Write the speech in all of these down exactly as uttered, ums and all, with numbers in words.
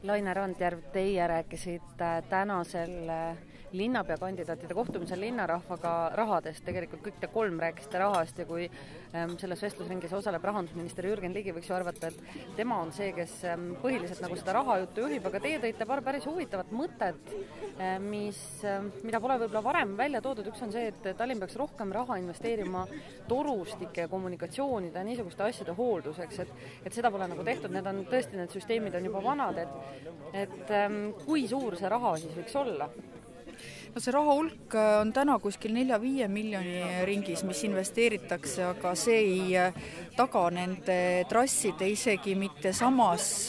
Laine Randjärv, teie rääkisite tänasel linnapeakandidaatide kohtumisel linnarahvaga rahadest, tegelikult kõik te kolm rääkisite rahast ja kui selles vestlusringis osaleb rahandusminister Jürgen Ligi, võiks ju arvata, et tema on see, kes põhiliselt nagu seda rahajuttu juhib, aga teie tõite paar päris huvitavat mõtet, mis, mida pole võib-olla varem välja toodud. Üks on see, et Tallinn peaks rohkem raha investeerima torustike ja kommunikatsioonide ja niisuguste asjade hoolduseks, et, et seda pole nagu tehtud, need on tõesti, need süsteemid on juba vanad, et et kui suur see raha siis võiks olla? No see raha hulk on täna kuskil nelja-viie miljoni ringis, mis investeeritakse, aga see ei taga nende trasside isegi mitte samas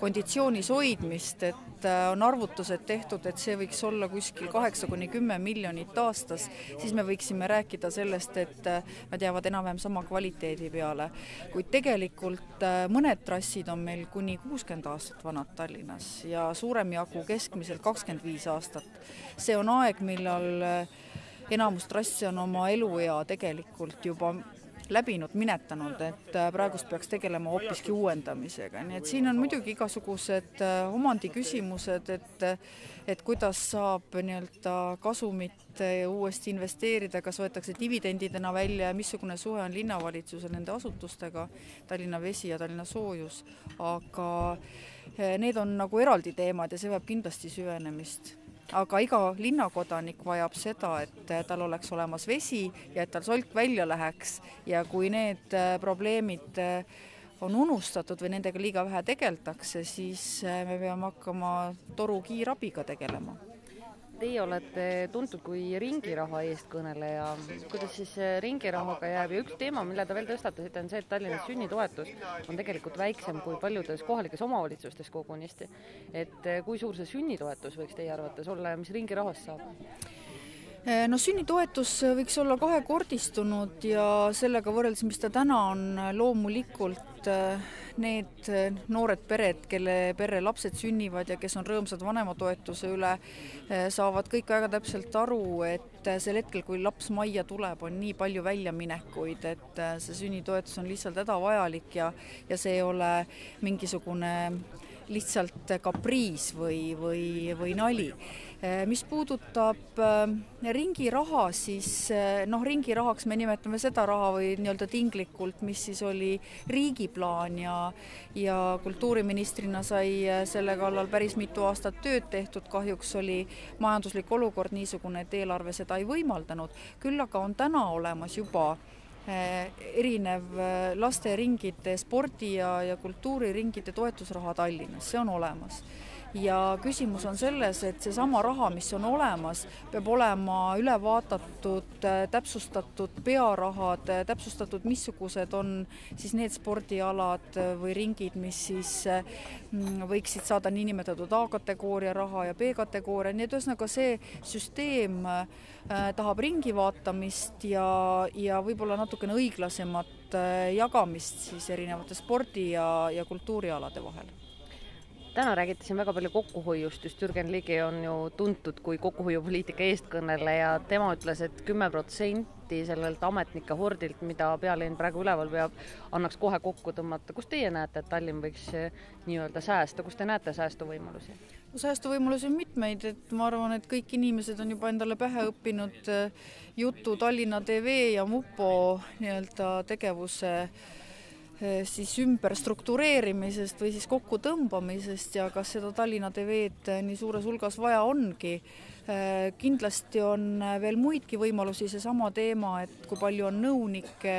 konditsioonis hoidmist, et on arvutused tehtud, et see võiks olla kuskil kaheksa kuni kümme miljonit aastas, siis me võiksime rääkida sellest, et nad jäävad enam-vähem sama kvaliteedi peale. Kuid tegelikult mõned trassid on meil kuni kuuskümmend aastat vanad Tallinnas ja suurem jagu keskmiselt kakskümmend viis aastat. See on aeg, millal enamus trassi on oma eluea tegelikult juba läbinud, minetanud, et praegust peaks tegelema hoopiski uuendamisega. Nii et siin on muidugi igasugused omandi küsimused, et, et kuidas saab nii-öelda kasumit uuesti investeerida, kas võetakse dividendidena välja ja missugune suhe on linnavalitsusel nende asutustega, Tallinna Vesi ja Tallinna Soojus, aga need on nagu eraldi teemad ja see vajab kindlasti süvenemist. Aga iga linnakodanik vajab seda, et tal oleks olemas vesi ja et tal solk välja läheks ja kui need probleemid on unustatud või nendega liiga vähe tegeldakse, siis me peame hakkama toru kiirabiga tegelema. Teie olete tuntud kui ringiraha eestkõneleja. Kuidas siis ringirahaga jääb? Ja üks teema, mille te veel tõstatasite, on see, et Tallinnas sünnitoetus on tegelikult väiksem kui paljudes kohalikes omavalitsustes kogunisti. Et kui suur see sünnitoetus võiks teie arvates olla ja mis ringirahast saab? No sünnitoetus võiks olla kahekordistunud ja sellega võrreldes, mis ta täna on, loomulikult need noored pered, kelle perre lapsed sünnivad ja kes on rõõmsad vanematoetuse üle, saavad kõik väga täpselt aru, et sel hetkel, kui laps majja tuleb, on nii palju väljaminekuid, et see sünnitoetus on lihtsalt hädavajalik ja, ja see ei ole mingisugune lihtsalt kapriis või, või, või nali. Mis puudutab ringiraha, siis noh, ringirahaks me nimetame seda raha või nii-öelda tinglikult, mis siis oli riigiplaan ja, ja kultuuriministrina sai selle kallal päris mitu aastat tööd tehtud. Kahjuks oli majanduslik olukord niisugune, et eelarve seda ei võimaldanud. Küll aga on täna olemas juba erinev lasteringide, spordi ja, ja kultuuriringide toetusraha Tallinnas, see on olemas. Ja küsimus on selles, et see sama raha, mis on olemas, peab olema üle vaadatud, täpsustatud pearahad, täpsustatud, missugused on siis need spordialad või ringid, mis siis võiksid saada niinimetatud A-kategooria raha ja B-kategooria. Nii et ühesõnaga see süsteem tahab ringi vaatamist ja, ja võib-olla natukene õiglasemat jagamist siis erinevate spordi ja, ja kultuurialade vahel. Täna räägite siin väga palju kokkuhoiust, just Jürgen Ligi on ju tuntud kui kokkuhoiupoliitika eestkõneleja. Tema ütles, et kümme protsenti sellelt ametnike hordilt, mida pealinn praegu üleval peab, annaks kohe kokku tõmmata. Kus teie näete, et Tallinn võiks nii-öelda säästa? Kus te näete säästuvõimalusi? No, säästuvõimalusi on mitmeid, et ma arvan, et kõik inimesed on juba endale pähe õppinud jutu Tallinna T V ja Mupo nii-öelda tegevuse siis ümber struktureerimisest või siis kokku tõmbamisest ja kas seda Tallinna T V-d nii suures hulgas vaja ongi. Kindlasti on veel muidki võimalusi, see sama teema, et kui palju on nõunike,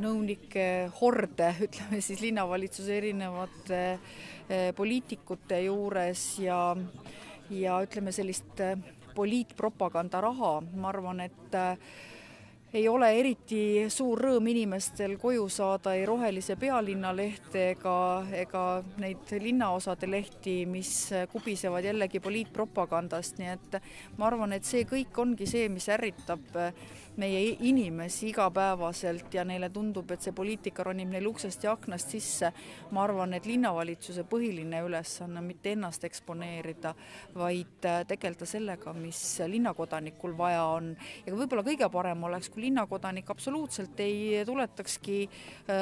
nõunike horde, ütleme siis linnavalitsuse erinevate poliitikute juures ja, ja ütleme sellist poliitpropaganda raha. Ma arvan, et ei ole eriti suur rõõm inimestel koju saada ei rohelise pealinna lehte ega, ega neid linnaosade lehti, mis kubisevad jällegi poliitpropagandast. Nii et ma arvan, et see kõik ongi see, mis ärritab meie inimesi igapäevaselt ja neile tundub, et see poliitika ronib neil uksest ja aknast sisse. Ma arvan, et linnavalitsuse põhiline ülesanne on mitte ennast eksponeerida, vaid tegeleda sellega, mis linnakodanikul vaja on. Ja võib-olla kõige parem oleks, kui linnakodanik absoluutselt ei tuletakski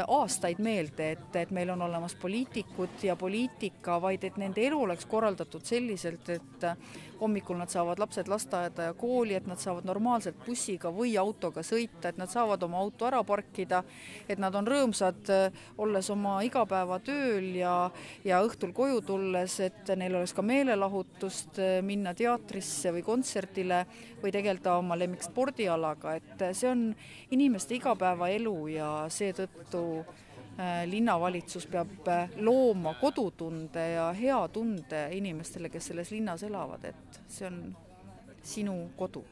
aastaid meelde, et, et meil on olemas poliitikud ja poliitika, vaid et nende elu oleks korraldatud selliselt, et hommikul nad saavad lapsed lasteaeda ja kooli, et nad saavad normaalselt bussiga või autoga sõita, et nad saavad oma auto ära parkida, et nad on rõõmsad olles oma igapäevatööl ja, ja õhtul koju tulles, et neil oleks ka meelelahutust minna teatrisse või kontserdile või tegeleda oma lemmikspordialaga, et see on inimeste igapäevaelu ja seetõttu linnavalitsus peab looma kodutunde ja hea tunde inimestele, kes selles linnas elavad, et see on sinu kodu.